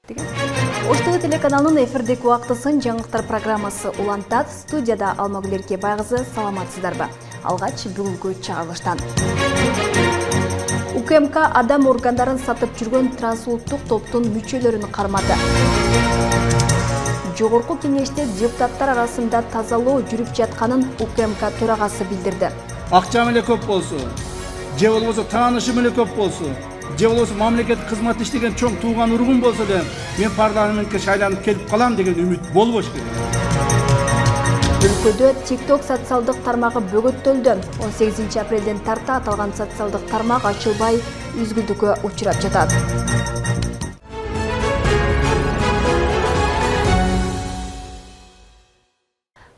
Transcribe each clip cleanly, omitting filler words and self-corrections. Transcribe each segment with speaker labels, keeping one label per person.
Speaker 1: Ош ТВ телеканалынын эфирдеги убактысын жаңылыктар программасы улантат. Студияда Алмагүл Эркебай кызы, саламатсыздарбы? Алгач бүгүнкү чыгарылыштан. УКМК адам органдарын сатып жүргөн трансулуттук топтун мүчөлөрүн кармады. Жогорку кеңеште депутаттар арасында тазалоо жүрүп жатканын УКМК төрагасы билдирди.
Speaker 2: Акчам эле көп болсо, же болбосо таанышым эле көп болсо, же болбосо мамлекеттик кызмат иштеген чоң тууган ургун болсо эле мен парламентке шайланып келип калам деген үмүт болбош керек.
Speaker 1: Өлкөдө TikTok социалдык тармагы бөгөттөлдү. 18 апрелден тарта аталган социалдык тармак ачылбай үзгүлтүккө учурап жатат.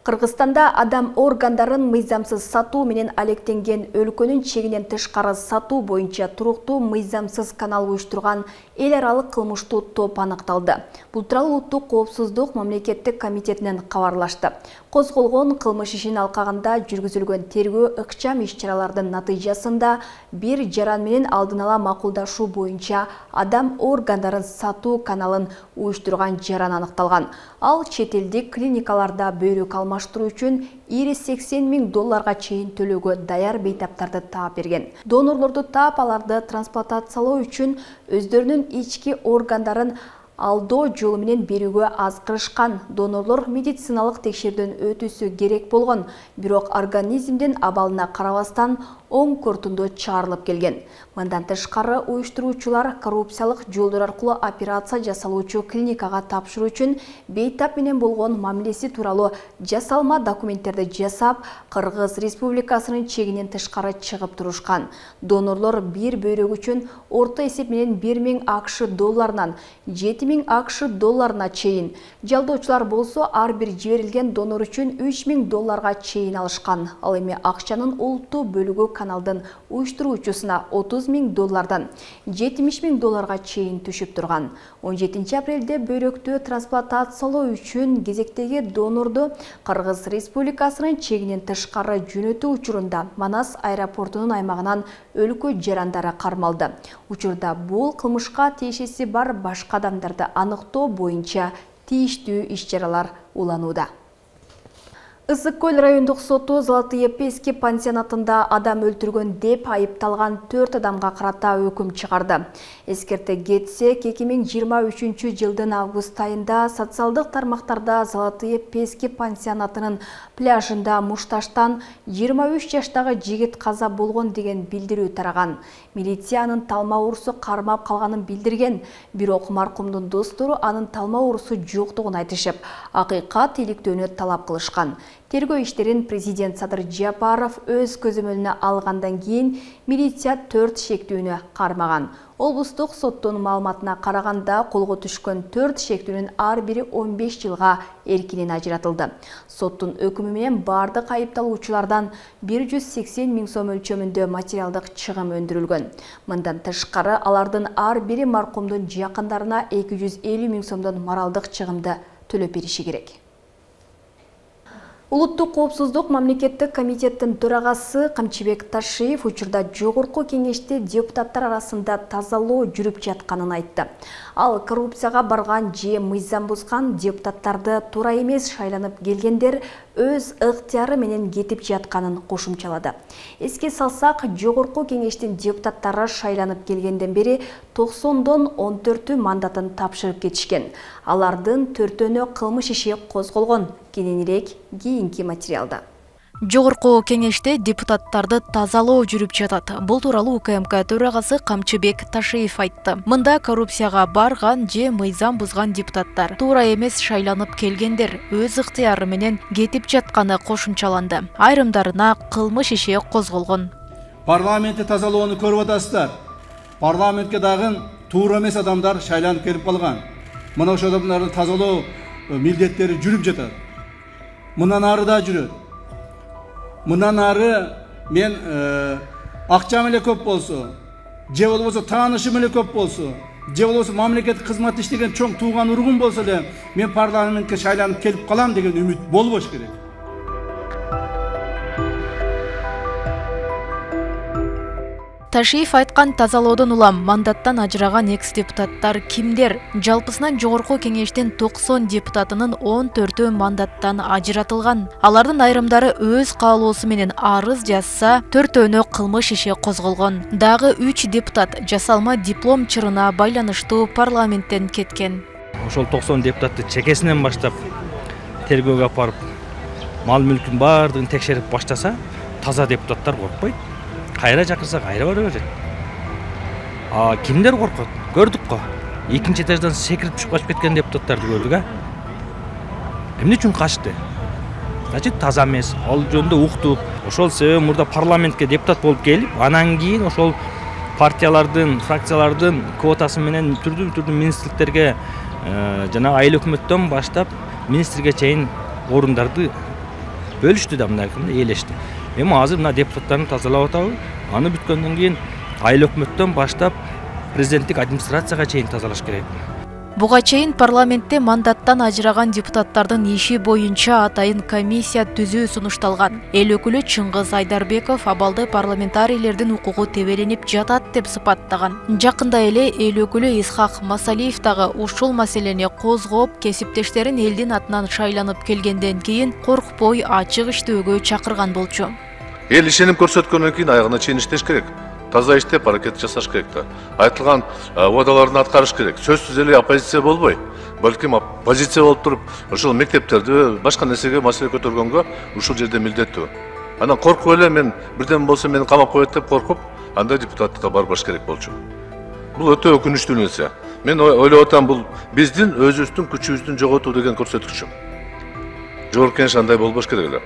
Speaker 1: Кыргызстанда адам органдарын мыйзамсыз сатуу менен алектенген өлкөнүн чегинен тышкары сатуу боюнча туруктуу мыйзамсыз канал уюштурган эл аралык кылмыштуу топ аныкталды. Бул тууралуу Улуттук коопсуздук мамлекеттик комитетинен кабарлашты. Козголгон кылмыш ишин алкагында жүргүзүлгөн тергөө ыкчам иш-чаралардын натыйжасында бир жаран менен алдын ала макулдашуу боюнча адам органдарын сатуу каналын уюштурган жаран аныкталган. Ал чет элдик клиникаларда бөйрөк алмаштыруу үчүн $80,000 чейин төлөөгө даяр бейтаптарды таап берген. Донорлорду таап аларды трансплантациялоо үчүн өздөрүнүн ички органдарын алдоо жолу менен берүүгө азгырышкан. Донорлор медициналык текшерүүдөн өтүүсү керек болгон, бирок организмдин абалына карабастан оң корутунду чыгарылып келген. Мындан тышкары уюштуруучулар коррупциялык жолдор аркылуу операция жасалуучу клиникага тапшыруу үчүн бейтап менен болгон мамилеси тууралуу жасалма документтерди жасап, Кыргыз Республикасынын чегинен тышкары чыгып турушкан. Донорлор бир бөйрөк үчүн орто эсеп менен $1,000 $7,000 чейин, жалдоочулар болсо ар бир жиберилген донор үчүн $3,000 чейин алышкан. Ал эми акчанын олуттуу бөлүгү каналдын уюштуруучусуна $30,000 $70,000 чейин түшүп турган. 17 апрелде бөйрөктү трансплантациялоо үчүн кезектеги донорду Кыргыз Республикасынын чегинен тышкары жөнөтүү учурунда Манас аэропортунун аймагынан өлкө жарандары кармалды. Учурда бул кылмышка тиешеси бар башка адамдарды аныктоо боюнча тийиштүү иш-чаралар уланууда. Ысык Көл райондук соту Золотые Пески пансионатында адам өлтүргөн деп айыпталган 4 адамга карата өкүм чыгарды. Эскерте кетсек, 2023 жылдын август айында социалдык тармактарда Золотые Пески пансионатынын пляжында мушташтан 23 жаштагы жигит каза болгон деген билдирүү тараган. Милициянын талма оорусу кармап калганын билдирген, бирок маркумдун достору анын талма оорусу жоктугун айтышып, акыйкат иликтөөнү талап кылышкан. Тергөө иштерин президент Садыр Жапаров өз көзөмөлүнө алгандан кийин милиция 4 шектүүнү кармаган. Облустук соттун маалыматына караганда колго түшкөн 4 шектүүнүн ар бири 15 жылга эркинен ажыратылды. Соттун өкүмү менен бардык айыпталуучулардан 180,000 сом өлчөмүндө материалдык чыгым өндүрүлгөн. Мындан тышкары алардын ар бири маркумдун жакындарына 250,000 сомдон моралдык чыгымды төлөп бериши керек. Улуттук коопсуздук мамлекеттик комитеттин төрагасы Камчыбек Ташиев учурда жогорку кеңеште депутаттар арасында тазалоо жүрүп жатканын айтты. Ал коррупцияга барган же мыйзам бузган депутаттарды туура эмес шайланып келгендер өз ыктыяры менен кетип жатканын кошумчалады. Эске салсак, жогорку кеңештин депутаттары шайланып келгенден бери 90дон 14 мандатын тапшырып кетишкен. Алардын 4-өнө кылмыш иши козголгон. Кененирээк кийинки материалда.
Speaker 3: Жогорку кеңеште депутаттарды тазалоо жүрүп жатат. Бул тууралуу УКМК төрагасы Камчыбек Ташиев айтты. Мында коррупцияга барган же мыйзам бузган депутаттар туура эмес шайланып келгендер өз ыктыяры менен кетип жатканы кошумчаланды. Айрымдарына кылмыш иши козголгон.
Speaker 2: Парламентти тазалоону көрүп атасыздар. Парламентке дагы туура эмес адамдар шайланып келип калган. Мына ошол адамдарды тазалоо милдеттери жүрүп жатат. Мындан ары да жүрөт. Мындан ары мен акчам эле көп болсо, же болбосо таанышым эле көп болсо, же болбосо мамлекеттик кызмат иштеген чоң тууган ургун болсо эле мен парламентке шайланып келип калам деген үмүт болбош керек.
Speaker 3: Ташиев айткан тазалоодон улам мандаттан ажыраган экс-депутаттар кимдер? Жалпысынан жогорку кеңештин 90 депутатынын 14-ü мандаттан ажыратылган. Алардын айрымдары өз каалоосу менен арыз жазса, 4-өөнө кылмыш иши козголгон. Дагы 3 депутат жасалма диплом чырына байланыштуу парламенттен кеткен.
Speaker 4: Ошол 90 депутатты чекесинен баштап тергөөгө алып барып, мал мүлкүн баардыгын текшерип баштаса, таза депутаттар коркпойт. Кайра чакырса кайра бара берет. Кимдер коркот? Көрдүк го. Экинчи этаждан секирип түшүп качып кеткен депутаттарды көрдүк, Эмне үчүн качты? Значит, таза эмес. Ал жөнүндө уктук. Ошол себеби мурда парламентке депутат болуп келип, анан кийин ошол партиялардын, фракциялардын квотасы менен түрдүү министрликтерге жана айыл өкмөттөн баштап министрге чейин орундарды бөлүштү да мындай ээлешти. Эми азыр мына депутаттарды тазалап атабыз. Аны бүткөндөн кийин айыл өкмөттөн баштап президенттик администрацияга чейин тазалаш керек.
Speaker 3: Буга чейин парламентте мандаттан ажыраган депутаттардын иши боюнча атайын комиссия түзүү сунушталган. Эл өкүлү Чыңгыз Айдарбеков абалды парламентарийлердин укугу тебеленип жатат деп сыпаттаган. Жакында эле эл өкүлү Исхак Масалиев дагы ушул маселени козгоп, кесиптештерин элдин атынан шайланып келгенден кийин коркпой ачык иштөөгө чакырган болчу.
Speaker 5: Эл ишеним көрсөткөндөн кийин аягына чейин иштеш керек. Таза иштеп аракет жасаш керек да. Айтылган убадаларын аткарыш керек. Сөзсүз эле оппозиция болбой, балким позиция болуп туруп, ошол мектептерди башка нерсеге маселе көтөргөнгө ушул жерде милдеттүү. Анан коркуп эле мен бирден болсо мени камап коет деп коркуп, андай депутаттыкка барбаш керек болчу. Бул өтө өкүнүчтүү нерсе. Мен ойлоп атам, бул биздин өзүбүздүн күчүбүздүн жоготуу деген көрсөткүчү. Жогорку кеңеш андай болбош керек эле.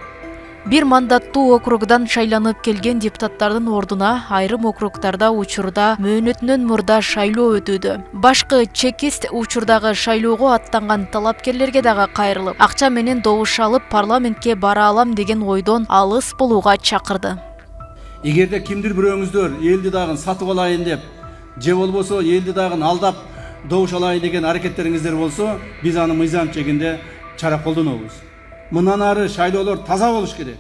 Speaker 3: Бир мандаттуу округдан шайланып келген депутаттардын ордуна айрым округдарда учурда мөөнөтүнөн мурда шайлоо өтүүдө. Башкы чекист учурдагы шайлоого аттанган талапкерлерге дагы кайрылып, акча менен добуш алып парламентке бара алам деген ойдон алыс болууга чакырды.
Speaker 2: Эгерде кимдир бирөөңүздөр элди дагы сатып алайын деп, же болбосо элди дагы алдап добуш алайын деген аракеттериңиздер болсо, биз аны мыйзам чегинде чара колдонобуз. Мындан ары шайлоолор таза болуш керек.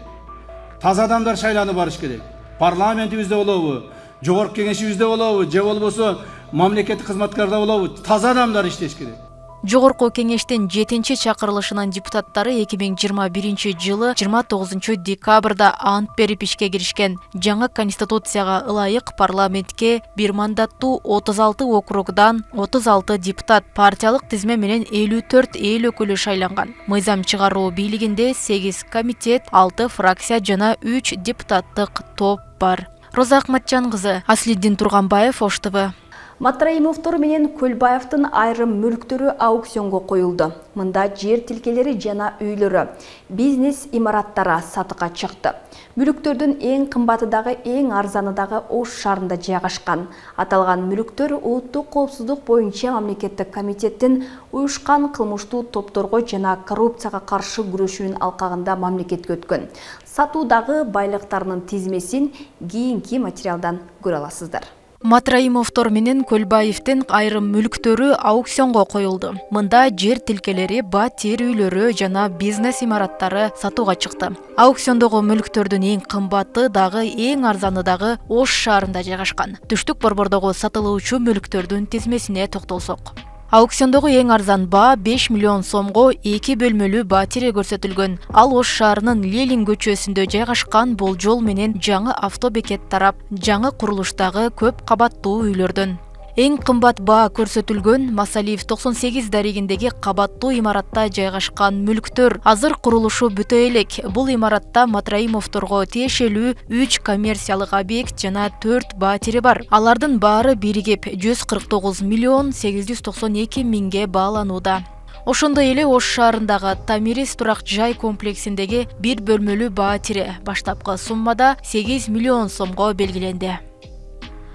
Speaker 2: Таза адамдар шайланып барыш керек. Парламентибизде болобу, жогорку кеңешибизде болобу, же болбосо мамлекеттик кызматкарда болобу, таза адамдар иштеш керек.
Speaker 3: Жогорку кеңештин 7-чи чакырылышынын депутаттары 2021-жылы 29-декабрда ант берип ишке киришкен. Жаңы конституцияга ылайык парламентке бир мандаттуу 36 округдан 36 депутат, партиялык тизме менен 54 эл өкүлү шайланган. Мыйзам чыгаруу бийлигинде 8 комитет, 6 фракция жана 3 депутаттык топ бар. Роза Акматжан кызы, Аслиддин Турганбаев, Ош ТВ.
Speaker 1: Матраимовдор менен Көлбаевдин айрым мүлктөрү аукционго коюлду. Мында жер тилкелери жана үйлөрү, бизнес имараттары сатыкка чыкты. Мүлктөрдүн эң кымбаты дагы эң арзаны дагы Ош шаарында жайгашкан. Аталган мүлктөр улуттук коопсуздук боюнча мамлекеттик комитеттин уюшкан кылмыштуу топторго жана коррупцияга каршы күрөшүүнүн алкагында мамлекетке өткөн. Сатуудагы байлыктарынын тизмесин кийинки материалдан көрө аласыздар.
Speaker 3: Матраимовдор менен Көлбаевдин айрым мүлктөрү аукционго коюлду. Мында жер тилкелери, батир үйлөрү жана бизнес имараттары сатууга чыкты. Аукциондогу мүлктөрдүн эң кымбаты дагы эң арзаны дагы Ош шаарында жайгашкан. Түштүк борбордогу сатылуучу мүлктөрдүн тизмесине токтолсок. Аукциондогу эң арзан баа 5 миллион сомго 2 бөлмөлүү батире көрсөтүлгөн. Ал Ош шаарынын Ленин көчөсүндө жайгашкан бул жол менен жаңы автобекет тарап, жаңы курулуштагы көп кабаттуу үйлөрдөн. Эң кымбат баа көрсөтүлгөн Масалиев 98 дарегиндеги кабаттуу имаратта жайгашкан мүлктөр. Азыр курулушу бүтө элек. Бул имаратта Матраимовдорго тиешелүү 3 коммерциялык объект жана 4 батири бар. Алардын баары биригип 149 миллион 892 миңге бааланууда. Ошондой эле Ош шаарындагы Тамирис турак жай комплексиндеги 1 бөлмөлүү батири баштапкы суммада 8 миллион сомго белгиленди.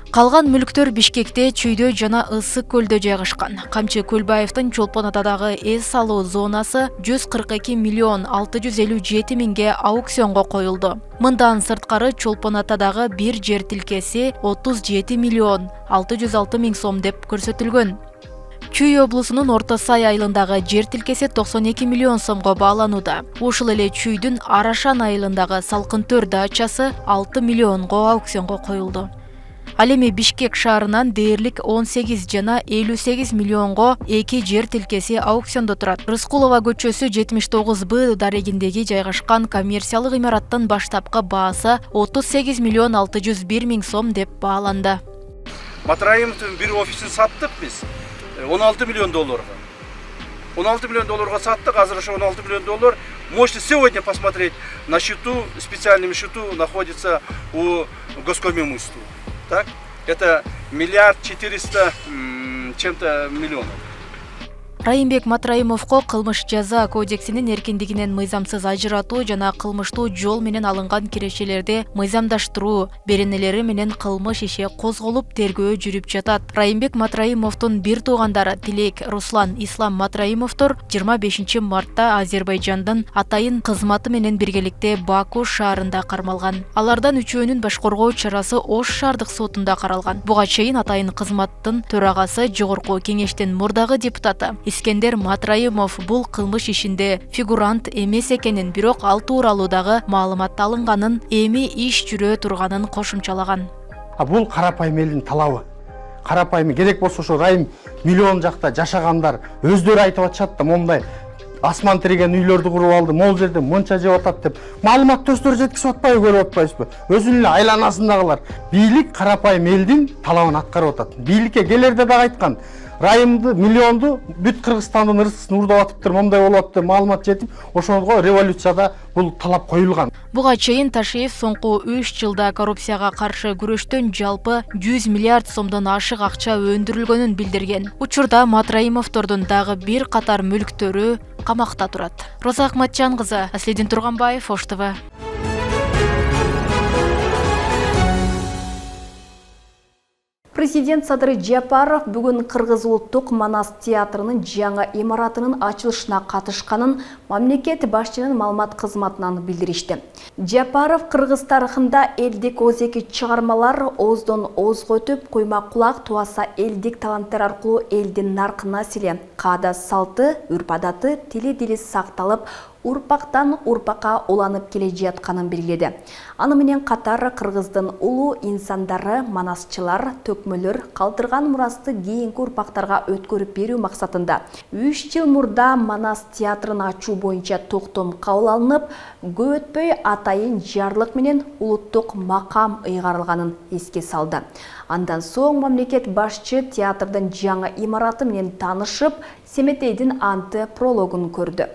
Speaker 3: Калган мүлктөр Бишкекте, Чүйдө жана Ысык көлдө жайгашкан. Камчы Көлбаевдин Чолпон Атадагы эс алуу зонасы 142 миллион 657 миңге аукционго коюлду. Мындан сырткары Чолпон Атадагы бир жер тилкеси 37 миллион 606 миң сом деп көрсөтүлгөн. Чүй облусунун Орто Сай айылындагы жер тилкеси 92 миллион сомго бааланууда. Ушул эле Чүйдүн Арашан айылындагы Салкын Төр дачасы 6 миллионго аукционго коюлду. Ал эми Бишкек шаарынан дээрлик 18 жана 58 миллионго 2 жер тилкеси аукциондо турат. Рыскулова көчөсү 79Б дарегиндеги жайгашкан коммерциялык имараттын баштапкы баасы 38 миллион 601 миң сом деп бааланды.
Speaker 2: Матраимовдун бир офисин саттык биз 16 миллион долларга. 16 миллион долларга саттык, азыр ошо 16 миллион доллар можете сегодня посмотреть на счету, специальном счету находится у Госкомимущества. Так? Это 1 400 чем-то миллионов.
Speaker 3: Райымбек Матраимовго кылмыш жаза кодексинин эркиндигинен мыйзамсыз ажыратуу жана кылмыштуу жол менен алынган кирешелерди мыйзамдаштыруу беренелери менен кылмыш иши козголуп тергөө жүрүп жатат. Райымбек Матраимовдун бир туугандары Тилек, Руслан, Ислам Матраимовдор 25 мартта Азербайжандын атайын кызматы менен биргеликте Баку шаарында кармалган. Алардан үчөөнүн башкаргоо чарасы Ош шаардык сотунда каралган. Буга чейин атайын кызматтын төрагасы Жогорку кеңештин мурдагы депутаты Искендер Матраимов бул кылмыш ишинде фигурант эмес экенин, бирок ал тууралуу дагы маалымат алынганын, эми иш жүрө турганын кошумчалаган.
Speaker 6: Бул карапайым элдин талабы. Карапайым керек болсо ошо Райым миллион жакта жашагандар өздөрү айтып атышат да, момундай асман тиреген үйлөрдү куруп алды, могул жерде мынча жеп атат деп маалыматты өздөрү жеткизип атпайбы, көрүп атпайсызбы? Өзүнүн эле айланасындагылар. Бийлик карапайым элдин талабын аткарып атат. Бийликке келерде дагы айткан, Райымды, миллионду бүт Кыргызстандын ырыскысын урдап атыптыр, момундай болуп атыптыр, маалымат жетип, ошого революцияда бул талап коюлган.
Speaker 3: Буга чейин Ташиев соңку 3 жылда коррупцияга каршы күрөштөн жалпы 100 миллиард сомдон ашык акча өндүрүлгөнүн билдирген. Учурда Матраимовдордун дагы бир катар мүлктөрү камакта турат. Роза Акматжан кызы, Аслидин Турганбаев, Ош ТВ.
Speaker 1: Президент Садыр Жапаров бүгүн Кыргыз улуттук Манас театрынын жаңы имаратынын ачылышына катышканын мамлекет башчынын маалымат кызматынан билдиришти. Жапаров Кыргыз тарыхында элдик озеки чыгармалар оздон озго өтүп, куйма кулак туаса элдик таланттар аркылуу элдин наркы населе, каада салты, үрп-адаты, тили дили сакталып, урпактан урпакка уланып келе жатканын белгиледи. Аны менен катар Кыргыздын улуу инсандары, манасчылар, төкмөлөр калтырган мурасты кийинки урпактарга өткөрүп берүү максатында 3 жыл мурда Манас театрын ачуу боюнча токтом кабыл алынып, көп өтпөй атайын жарлык менен улуттук макам ыйгарылганын эске салды. Андан соң мамлекет башчы театрдын жаңы имараты менен таанышып, Семетейдин анты прологун көрдү.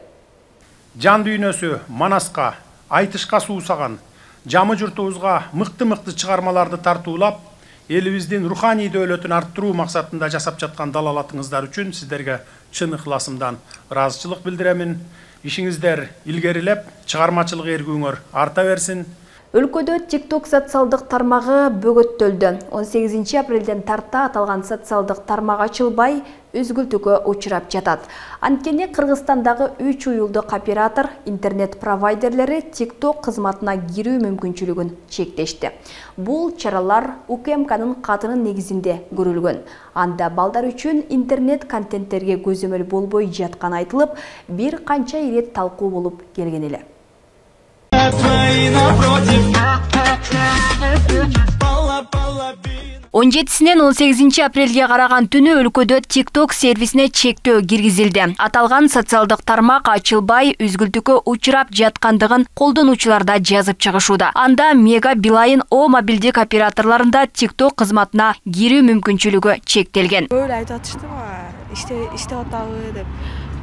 Speaker 7: Жан дүйнөсү Манаска, айтышка суусаган, жамы журтубузга мыкты чыгармаларды тартуулап, элибиздин руханий дөөлөтүн арттыруу максатында жасап жаткан далалатыңыздар үчүн сиздерге чын ыхласымдан ыраазычылык билдиремин. Ишиңиздер илгерилеп, чыгармачылык эргүүңөр арта берсин.
Speaker 1: Өлкөдө TikTok социалдык тармагы бөгөттөлдү. 18 апрелден тарта аталган социалдык тармак ачылбай, үзгүлтүүгө учурап жатат. Анткени Кыргызстандагы 3 уюлдук оператор интернет провайдерлери TikTok кызматына кирүү мүмкүнчүлүгүн чектешти. Бул чаралар УКМКнын катынын негизинде көрүлгөн. Анда балдар үчүн интернет контенттерге көзөмөл болбой жатканы айтылып, бир канча ирет талкуу болуп келген эле. 17-синен 18 апрелге караган түнү өлкөдө TikTok сервисине чектөө киргизилди. Аталган социалдык тармак ачылбай, үзгүлтүүгө учурап жаткандыгын колдонуучулар да жазып чыгышууда. Анда Мега Билайн О мобилдик операторлорунда TikTok кызматына кирүү мүмкүнчүлүгү чектелген.
Speaker 8: Böyle айтып атышты, иштеп атабы деп.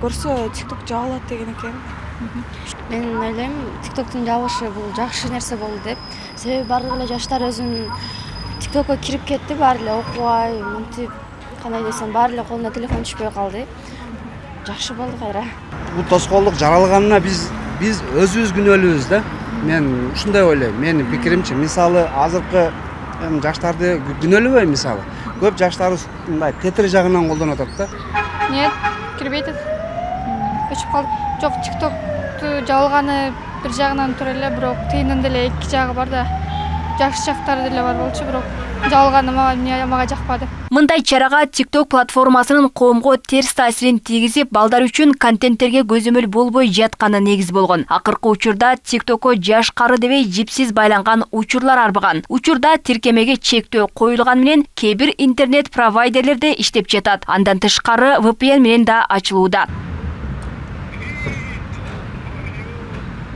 Speaker 8: Көрсө TikTok жабылат деген экен.
Speaker 9: Мен ойлойм, TikToктун жабышы бул жакшы нерсе болду деп. Себеби бардык эле жаштар өзүнүн TikTokко кирип кетти, баары эле окубай, мынтип, кандай десем, баары эле колуна телефон түшпөй калды. Жакшы болду кайра.
Speaker 10: Бул тоскоолдук жаралганына биз өзүбүз күнөөлүүбүз да. Мен ушундай ойлойм. Менин пикиримче, мисалы азыркы жаштарды күнөөлөбөйм мисалы. Көп жаштарыбыз мындай тетир жагынан колдонуп атат да.
Speaker 11: Нет, кирбейт. Өчүп калдык. Жок, TikToкту жабылганы бир жагынан тура эле, бирок тыйынын деле эки жагы бар да. Жакшы жактары деле бар болчу, бирок жалганы мага жакпады.
Speaker 1: Мындай чарага TikTok платформасынын коомго терс таасирин тийгизип, балдар үчүн контенттерге көзөмөл болбой жатканы негиз болгон. Акыркы учурда TikTok'ко жаш кары дебей жипсиз байланган учурлар арбыган. Учурда тиркемеге чектөө коюлган менен кээ бир интернет провайдерлерде иштеп жатат. Андан тышкары VPN менен да ачылууда.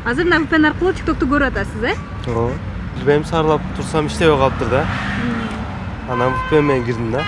Speaker 12: Азыр мына VPN аркылуу TikTok'ту көрүп атасыз,
Speaker 13: Ооба. Билбейм, сарылап турсам иштебей калыптыр да. Анан VPN менен кирдим да.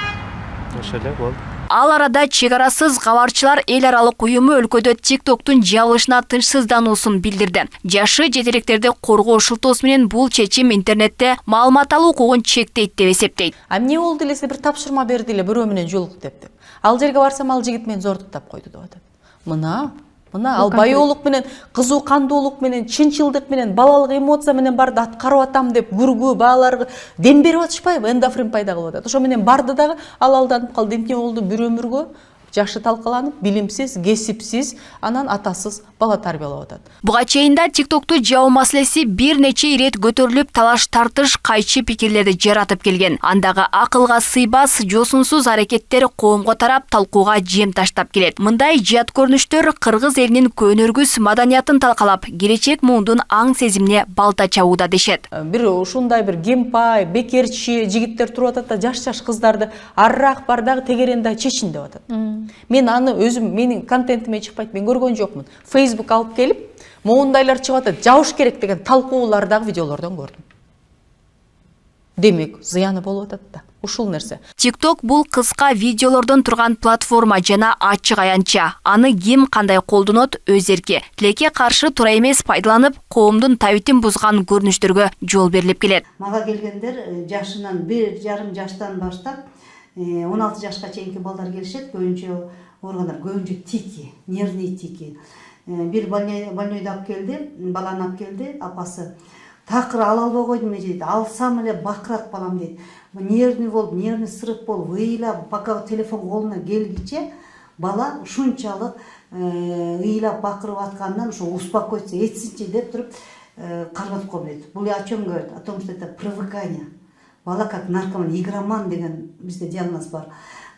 Speaker 13: Ошо эле болду.
Speaker 1: Ал арада чек арасыз кабарчылар эл аралык уюму өлкөдө TikTok'тун жабылышына тынчсыздануусун билдирди. Жашы жетелектерди коргоо шылтоосу менен бул чечим интернетте маалымат алуу укугун чектейт деп эсептейт.
Speaker 14: Эмне болду эле, бир тапшырма берди эле бирөө менен жолук деп. Ал жерге барсам ал жигит мени зордуктап койду деп атат. Мына ал байоолук менен, кызуу кандуулук менен, чынчылдык менен, балалык эмоция менен барды аткарып атам деп күргүү бааларга дем берип атышпайбы? Эндофрин пайда кылып атат. Ошо менен барды дагы ал алданып калды. Эмне болду? Бир өмүргө жашы талкаланып, билимсиз, кесипсиз, анан атасыз бала тарбиялап атат.
Speaker 1: Буга чейин да TikTok'ту жабуу маселеси бир нече ирет көтөрүлүп, талаш-тартыш, кайчы пикирлерди жаратып келген. Андагы акылга сыйбас, жосунсуз аракеттер коомго тарап, талкууга жем таштап келет. Мындай жат көрүнүштөр кыргыз элинин көнөргүс маданиятын талкалап, келечек муундун аң сезимине балта чабууда дешет.
Speaker 14: Бир ушундай бир кемпай, бекерчи жигиттер туруп атат да, жаш кыздарды арраак бар дагы тегеренде чечин деп атат. Мен аны өзүм, менин контентиме чыкпайт, мен көргөн жокмун. Facebook алып келип, моундайлар чыгып атат, жабыш керек деген талкуулардагы видеолордон көрдүм. Демек, зыяны болуп атат да. Ушул нерсе.
Speaker 1: TikTok бул кыска видеолордон турган платформа жана ачык аянтча. Аны ким кандай колдонот өз эрки. Тилекке каршы туура эмес пайдаланып, коомдун табитин бузган көрүнүштөргө жол берилип келет.
Speaker 15: Мага келгендер жашынан 1,5 жаштан баштап 16 жашка чейинки балдар келишет, көбүнчө органдар, көбүнчө тики, нервный тики. Бир больнойдо алып келди, баланы алып келди, апасы. Такыр ала албай койдум дейт. Алсам эле бакырат балам дейт. Нервный болуп, нервный срыв болуп, ыйлап, пока телефон колуна келгиче бала ушунчалык ыйлап бакырып аткандан ошо успокоиться этсинчи деп туруп карматып коем дейт. Бул о чем говорит? О том, что это привыкание. Бала как наркоман, игроман деген бизде диагноз бар.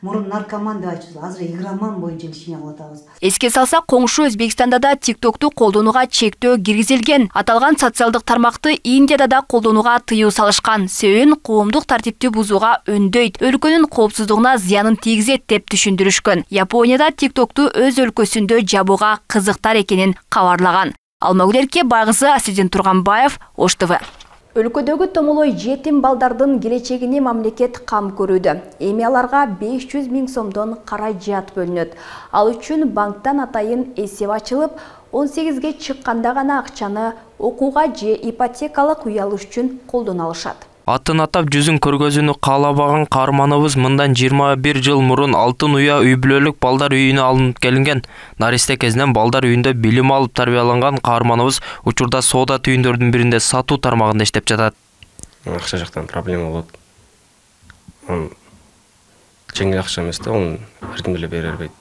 Speaker 15: Мурун наркоман деп айтчубуз, азыр игроман боюнча лечение кылып атабыз.
Speaker 1: Эске салсак, коңшу Өзбекстанда да TikTok'ту колдонууга чектөө киргизилген. Аталган социалдык тармакты Индияда да колдонууга тыюу салышкан. Себебин коомдук тартипти бузууга өндөйт, өлкөнүн коопсуздугуна зыянын тийгизет деп түшүндүрүшкөн. Японияда TikTok'ту өз өлкөсүндө жабууга кызыктар экенин кабарлаган. Алмагүлерке Байгызы, Асидин Турганбаев, Ош ТВ. Өлкөдөгү томолой жетим балдардын келечегине мамлекет кам көрүүдө. Эми аларга 500 000 сомдон каражат бөлүнөт. Ал үчүн банктан атайын эсеп ачылып, 18ге чыкканда гана акчаны окууга же ипотекалык үй алыш үчүн колдоно алышат.
Speaker 16: Атын атап жүзүн көргөзүүнү каалабаган каарманыбыз мындан 21 жыл мурун Алтын уя үй бүлөлүк балдар үйүнө алынып келинген. Наристе кезинен балдар үйүндө билим алып тарбияланган каарманыбыз учурда соода түйүндөрдүн биринде сатуу тармагында иштеп жатат.
Speaker 17: Акча жактан проблема болот. Жеңил акча эмес да, оны ар ким деле бере албайт.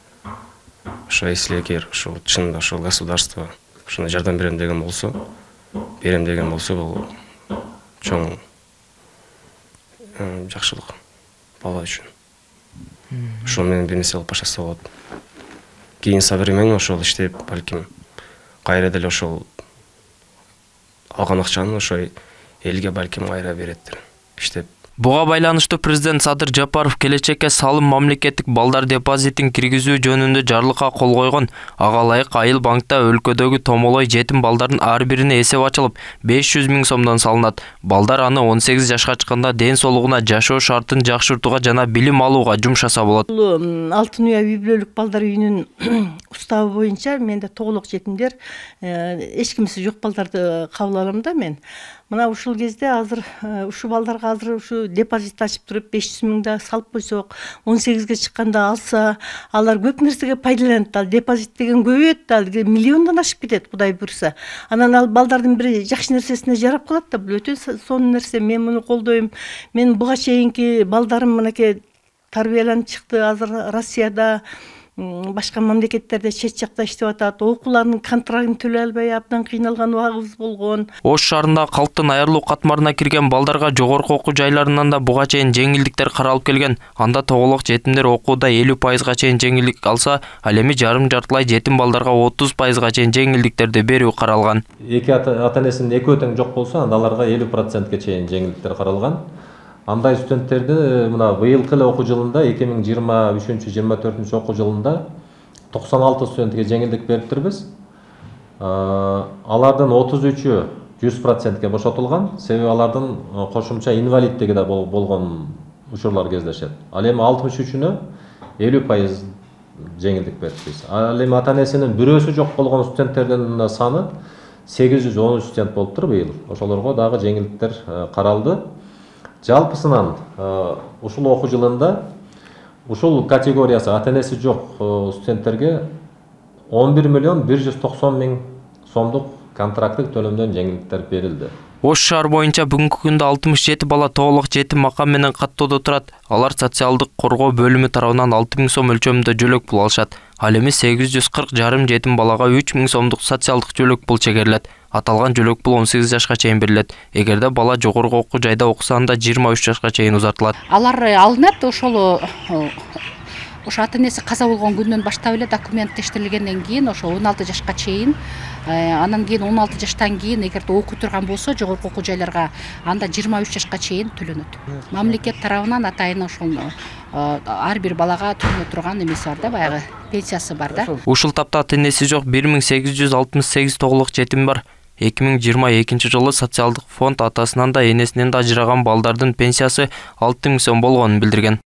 Speaker 17: Ошо если эгер ушул чынында ушул государство ушуна жардам берем деген болсо, бул чоң жакшылык бала үчүн. Ошол менен бир нерсе алып баштаса болот. Кийин современно ошол иштеп, балким кайра деле ошол алган акчаны ошо элге балким кайра береттир. Иштеп.
Speaker 16: Буга байланыштуу президент Садыр Жапаров келечекке салым мамлекеттик балдар депозитин киргизүү жөнүндө жарлыкка кол койгон. Ага ылайык айыл банкта өлкөдөгү томолой жетим балдардын ар бирине эсеп ачылып, 500 000 сомдон салынат. Балдар аны 18 жашка чыкканда ден соолугуна, жашоо шартын жакшыртууга жана билим алууга жумшаса болот.
Speaker 18: Алтын уя үй бүлөлүк балдар үйүнүн уставы боюнча менде тоголок жетимдер, эч кимиси жок балдарды кабыл алам да мен. Мына ушул кезде азыр ушу балдарга азыр ушу депозит ачып туруп 500 000 да салып койсок, 18ге чыкканда алса, алар көп нерсеге пайдаланат. Ал депозит деген көбөйөт, ал миллиондон ашып кетет, Кудай буйрса. Анан ал балдардын бири жакшы нерсесине жарап калат да, бул өтө сонун нерсе. Мен муну колдойм. Мен буга чейинки балдарым мынакей тарбияланып чыкты, азыр Россияда башка мамлекеттерде чет жакта иштеп атат, окууларынын контрактын төлөй албай абдан кыйналган убагыбыз болгон.
Speaker 16: Ош шаарында калктын аярлуу катмарына кирген балдарга жогорку окуу жайларынан да буга чейин жеңилдиктер каралып келген. Анда тоголок жетимдер окууда 50%га чейин жеңилдик алса, ал эми жарым-жартылай жетим балдарга 30%га чейин жеңилдиктерди берүү каралган.
Speaker 19: Эки ата-энесинин экөө тең жок болсо, анда аларга 50%га чейин жеңилдиктер каралган. Андай студенттерди мына быйылкы эле окуу жылында 2023-24 окуу жылында 96 студентке жеңилдик бериптирбиз. Алардын 33-ü 100%ге бошотулган. Себеби алардын кошумча инвалиддиги да болгон учурлар кездешет. Ал эми 63-үнө 50% жеңилдик берипбиз. Ал эми ата-энесинин бирөөсү жок болгон студенттердин саны 813 студент болуптур быйыл. Ошолорго дагы жеңилдиктер каралды. Жалпысынан ушул окуу жылында ушул категориясы ата-энеси жок студенттерге 11.190.000 сомдук контракттык төлөмдөн жеңилдиктер берилди.
Speaker 16: Ош шаар боюнча бүгүнкү күндө 67 бала тоголок жетим макам менен каттоодо турат. Алар социалдык коргоо бөлүмү тарабынан 6000 сом өлчөмүндө жөлөк пул алышат. Ал эми 840 жарым жетим балага 3000 сомдук социалдык жөлөк пул чегерилет. Аталган жөлөк пул 18 жашка чейин берилет. Эгерде бала жогорку окуу жайда окуса, анда 23 жашка чейин узартылат.
Speaker 20: Алар алынат ошол ата-энеси каза болгон күндөн баштап эле документтештирилгенден кийин ошо 16 жашка чейин, анан кийин 16 жаштан кийин эгерде окуй турган болсо жогорку окуу жайларга, анда 23 жашка чейин төлөнөт. Мамлекет тарабынан атайын ошол ар бир балага төлөнө турган эмеси бар да, баягы пенсиясы бар да.
Speaker 16: Ушул тапта ата-энеси жок 1868 тоголок жетим бар. 2022 жылы социалдык фонд атасынан да энесинен да ажыраган балдардын пенсиясы 6000 сом болгонун билдирген.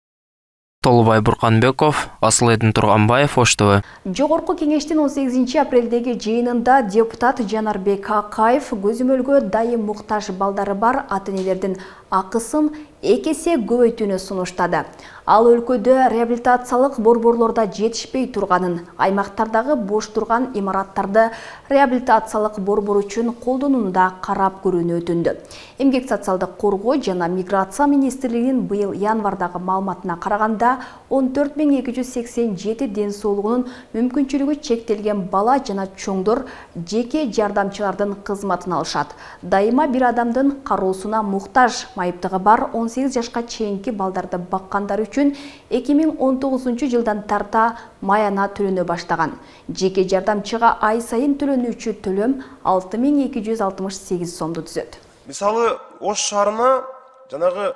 Speaker 16: Толубай Бурканбеков, Асылайдын Турганбаев, Ош ТВ.
Speaker 1: Жогорку кеңештин 18 апрелдеги жыйынында депутат Жанарбек Акаев көзөмөлгө дайым муктаж балдары бар ата-энелердин акысын 2 эсе көбөйтүүнү сунуштады. Ал өлкөдө реабилитациялык борборлордо жетишпей турганын, аймактардагы бош турган имараттарды реабилитациялык борбор үчүн колдонууну да карап көрүүнү өтүндү. Эмгек социалдык коргоо жана миграция министрлигинин быйыл январдагы маалыматына караганда 14287 ден соолугунун мүмкүнчүлүгү чектелген бала жана чоңдор жеке жардамчылардын кызматын алышат. Дайыма бир адамдын кароосуна муктаж майыптыгы бар 18 жашка чейинки балдарды баккандар үчүн 2019 жылдан тарта маяна төлөнө баштаган. Жеке жардамчыга ай сайын төлөнүүчү төлөм 6268 сомду түзөт.
Speaker 21: Мисалы, Ош шаарына жанагы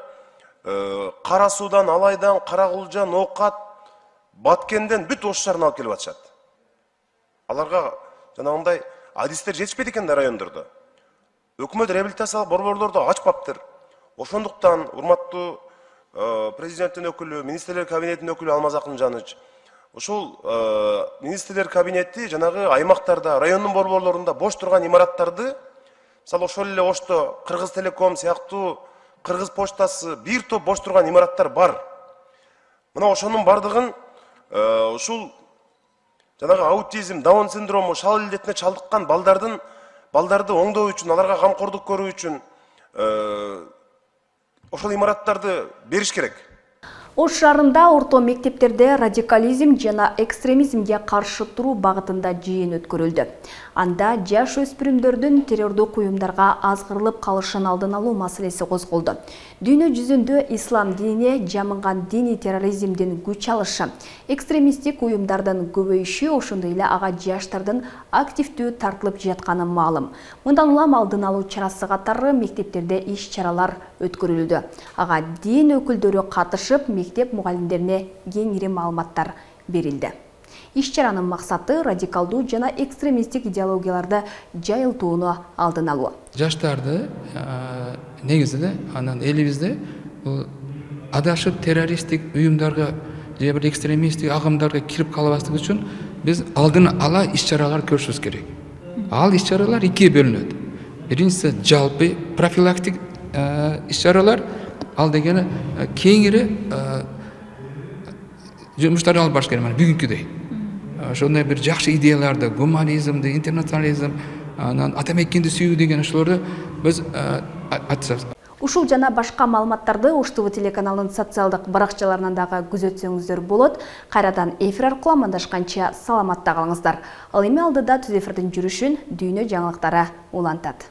Speaker 21: Кара Суудан, Алайдан, Каракулжа, Ноокат, Баткенден бүт Ош шаарына алып келип атышат. Аларга жанагындай адистер жетишпейт экен да райондордо. Өкмөт реабилитациялык борборлордо ачпаптыр. Ошондуктан урматтуу президенттин өкүлү, министрлер кабинетинин өкүлү Алмаз Акынжанович, ушул министрлер кабинети жанагы аймактарда, райондун борборлорунда бош турган имараттарды, мисалы ошол эле Ошто Кыргыз Телеком сыяктуу, Кыргыз поштасы, бир топ бош турган имараттар бар. Мына ошонун бардыгын ушул жанагы аутизм, Даун синдрому, шал илдетине чалдыккан балдарды оңдоо үчүн, аларга камкордук көрүү үчүн ошол имараттарды бериш керек.
Speaker 1: Ош шаарында орто мектептерде радикализм жана экстремизмге каршы туруу багытында жыйын өткөрүлдү. Анда жаш өспүрүмдөрдүн террордук уюмдарга азгырылып калышын алдын алуу маселеси козголду. Дүйнө жүзүндө ислам динине жамынган диний терроризмдин күч алышы, экстремисттик уюмдардын көбөйүшү, ошондой эле ага жаштардын активдүү тартылып жатканы маалым. Мындан улам алдын алуу чарасы катары мектептерде иш-чаралар өткөрүлдү. Ага дин өкүлдөрү катышып, мектеп мугалимдерине кеңири маалыматтар берилди. Иш-чаранын максаты радикалдуу жана экстремисттик идеологияларды жайылтууну алдын алуу.
Speaker 22: Жаштарды негизинде анан элибизде адашып террористтик уюмдарга же бир экстремисттик агымдарга кирип калбастык үчүн биз алдын ала иш-чаралар көрүшүбүз керек. Ал иш-чаралар экиге бөлүнөт. Биринчиси жалпы профилактик иш-чаралар, ал дегени кеңири жумуштар алып барыш керек, бүгүнкүдөй. Ошондой бир жакшы идеяларды, гуманизмди, интернационализм, анан ата мекенди сүйүү деген ошолорду биз айтышабыз.
Speaker 1: Ушул жана башка маалыматтарды Уш ТВ телеканалынын социалдык баракчаларынан дагы күзөтсөңүздөр болот. Кайрадан эфир аркылуу амандашканча саламатта калыңыздар. Ал эми алдыда түз эфирдин жүрүшүн дүйнө жаңылыктары улантат.